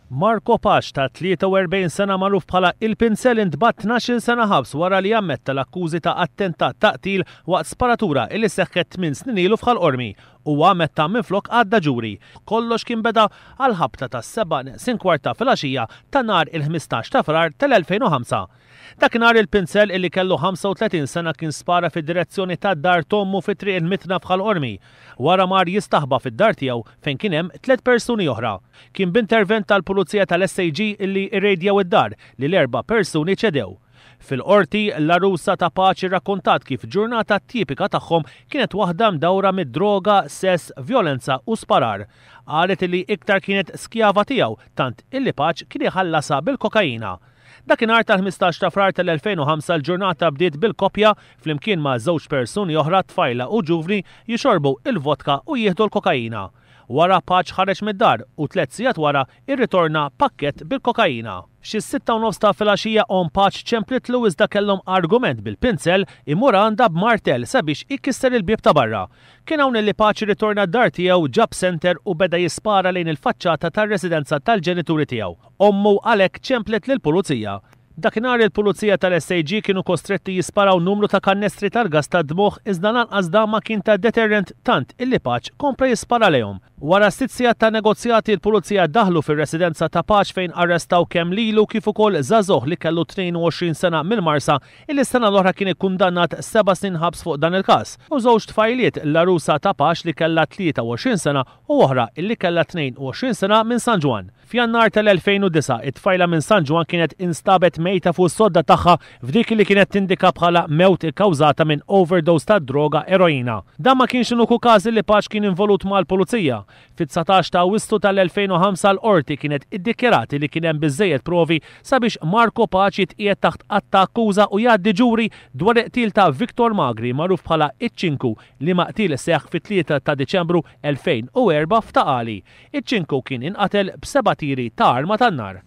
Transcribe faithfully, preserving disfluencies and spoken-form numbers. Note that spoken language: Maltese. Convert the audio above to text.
Marco Pace ta' tlieta u erbgħin sena, magħruf bħala Il-Pinsel, intbagħat tnax-il sena ħabs wara li ammetta l-akkużi ta' attentat ta' qtil waqt sparatura illi seħħet tmien snin ilu f'Ħal Qormi. Huwa ammetta minflok għadda ġuri. Kollox kien beda għal ħabta ta' seba' neqsin kwarta filgħaxija ta' nhar il-ħmistax ta' Frar tal-elfejn u ħamsa. Dakinhar Il-Pinsel, illi kellu ħamsa u tletin sena, kien spara fid-direzzjoni ta' dar t'ommu fi Triq il-Mitna f'Ħal Qormi. Wara mar jistaħba fid-dar tiegħu fejn kien hemm tliet persuni oħra. Kien b'intervent tal-Pulizija tal-S A G illi irrejdjaw id-dar li l-erba' persuni ċedew. Fil-qorti, l-għarusa ta' Pace rakkontat kif ġurnata tipika tagħhom kienet waħda mdawra mid-droga, sess, violenza u sparar. Qalet illi iktar kienet skjava tiegħu, tant illi Pace kien iħallasha bil-kokaina. Dakinhar tal-ħmistax ta' Frar tal-elfejn u ħamsa l-ġurnata bdiet bil-koppja flimkien ma' żewġ persuni oħra, tfajla u ġuvni, jixorbu il-vodka u jieħdu l-kokaina. Wara Pace ħareġ mid-dar u tliet sigħat wara irritorna pakket bil-kokaina. Xi sitta u nofs ta' filgħaxija omm Pace ċemplitlu, iżda kellhom argument, bil-Pinsel imur għandha b'martell sabiex ikisser il-bieb ta' barra. Kien hawn li Pace ritorna d-dar tiegħu, ġab senter u beda jispara lejn il-faċċata tar-residenza tal-ġenituri tiegħu. Ommu għalhekk ċemplet lill-pulizija. Dakinhar il-pulizija tal-S A G kienu kostretti jisparaw numru ta' kannestri tal-gas ta' dmugħ, iżda lanqas dan ma kien ta' deterrent, tant illi Pace kompla jispara lejhom. Wara sitt sigħat ta' negozjati, il-pulizija daħlu fir-residenza ta' Pace fejn arrestaw kemm lilu kif ukoll żagħżugħ li kellu tnejn u għoxrin sena mill-Marsa, illi sena l-oħra kien ikkundannat seba' snin ħabs fuq dan il-każ. U żewġ tfajliet, l-għarusa ta' Pace li kellha tlieta u għoxrin sena u oħra illi kellha tnejn u għoxrin sena minn San Ġwann. F'Jannar tal-elfejn u disgħa, it-tfajla minn San Ġwann kienet instabet mejta fuq sodda tagħha f'dik li kienet tindika bħala mewt ikkawżata minn overdose ta' droga eroina. Dan ma kienx l-uniku każ li Pace kien involut mal-pulizija. Fit-dsatax ta' Awwissu tal-elfejn u ħamsa l-qorti kienet iddikjarati li kien hemm biżejjed provi sabiex Marco Pace jitqiegħed taħt att ta' akkuża u jgħaddi ġuri dwar il-qtil ta' Victor Magri, magħruf bħala Iċ-Ċinku, li qtil seħħ fit-tlieta ta' Diċembru elfejn u erbgħa f'Ta' Qali. Iċ-Ċinku kien inqatel b'seba' tiri ta' arma tan-nar.